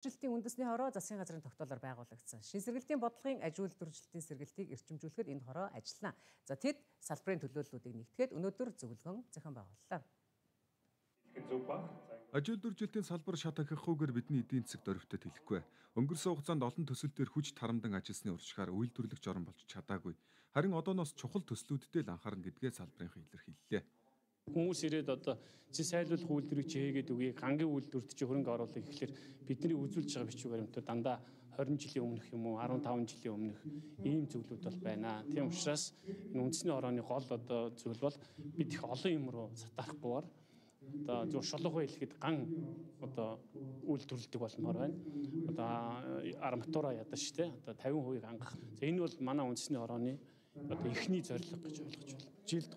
Үйлдвэржилтийн үндэсний хороо засгийн газрын тогтоолоор байгуулагдсан. Шин сэргэлтийн бодлогын аж үйлдвэржилтийн сэргэлтийг эрчимжүүлэхэд энэ хороо ажиллана. За тэд салбарын төлөөллүүдийг нэгтгэхэд өнөөдөр зөвлөгөөн зохион байгууллаа. Аж үйлдвэржилтийн салбар шат анхихгүйгээр бидний эдийн засагт орвитод хэлэхгүй. Өнгөрсөн хугацаанд олон төсөл дээр хүч тарамдан ажилласны урьдчилгаар үйлдвэрлэгч орон болж чадаагүй. Харин одооноос чухал төслүүдтэй л анхаарна гэдгээ салбарынхан илэрхийллээ. Хүмүүс ирээд одоо зэсайлуулах үйлдвэрийг чи хийгээд үгүй гангийн үйлдвэрт чи хөрөнгө оруулах гэхэлэр бидний үзүүлж байгаа бичиг баримтууд дандаа 20 жилийн өмнөх юм уу 15 жилийн өмнөх ийм зөвлөд бол байна. Тийм учраас энэ үндэсний хорооны гол одоо зүйл бол бид их олон юм руу сатарахгүйгээр одоо зөв шулуухай хэлэхэд ган одоо үйлдвэрлэдэг болмоор байна. Одоо арматура ядаж те одоо 50% хангах. За энэ бол манай үндэсний хорооны одоо эхний зорилго гэж ойлгож байна. Жилд